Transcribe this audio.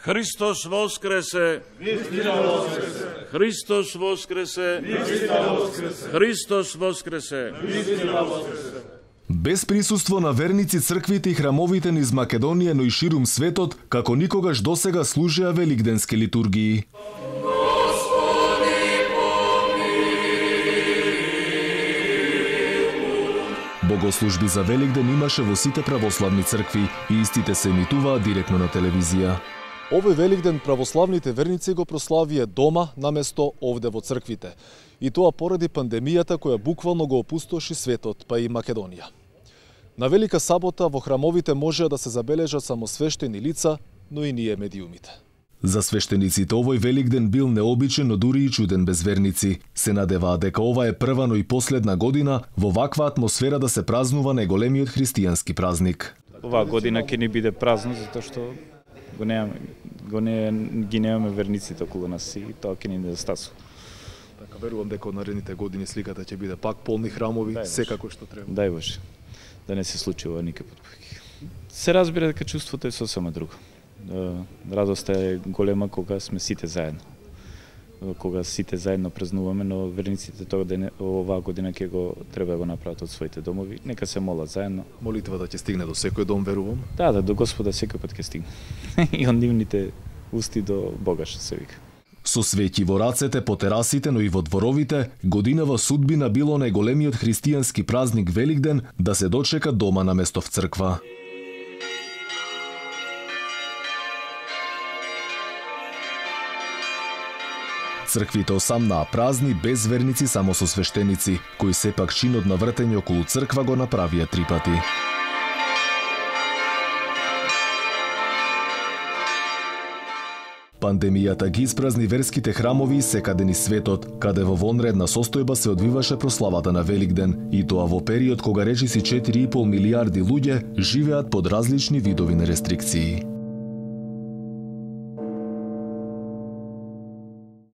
Христос воскресе! Христос воскресе! Христос воскресе! Без присуство на верници црквите и храмовите низ Македонија, но и ширум светот, како никогаш досега служеа великденски литургии. Богослужби за Великден имаше во сите православни цркви и истите се емитуваа директно на телевизија. Овој Великден православните верници го прославија дома наместо овде во црквите. И тоа поради пандемијата која буквално го опустоши светот, па и Македонија. На Велика сабота во храмовите можеа да се забележат само свештени лица, но и ние медиумите. За свештениците овој Великден бил необичен, но дури и чуден без верници. Се надеваа дека ова е прва, но и последна година во ваква атмосфера да се празнува најголемиот христијански празник. Оваа година ќе ни биде празно затоа што ги немаме верниците околу нас и тоа ќе ни недостасува. Така верувам дека од наредните години сликата ќе биде пак полни храмови, секако што треба. Дај Боже, да не се случува никакво повеќе. Се разбира дека чувството е сосема друго. Радоста е голема кога сме сите заедно. Кога сите заедно празнуваме, но верниците оваа година ќе го треба да го направат од своите домови. Нека се молат заедно. Молитвата ќе стигне до секој дом, верувам. Да, до Господа секој пат ќе стигне. И од нивните усти до Бога, што се вика. Со свеќи во рацете, по терасите, но и во дворовите, годинава судбина било најголемиот христијански празник Великден да се дочека дома наместо в црква. Црквите осамнаа празни, без верници, само со свештеници, кои сепак чинот на вртење околу црква го направија 3 пати. Пандемијата ги испразни верските храмови секаде низ светот, каде во вонредна состојба се одвиваше прославата на Великден, и тоа во период кога речиси 4,5 милиарди луѓе живеат под различни видови на рестрикции.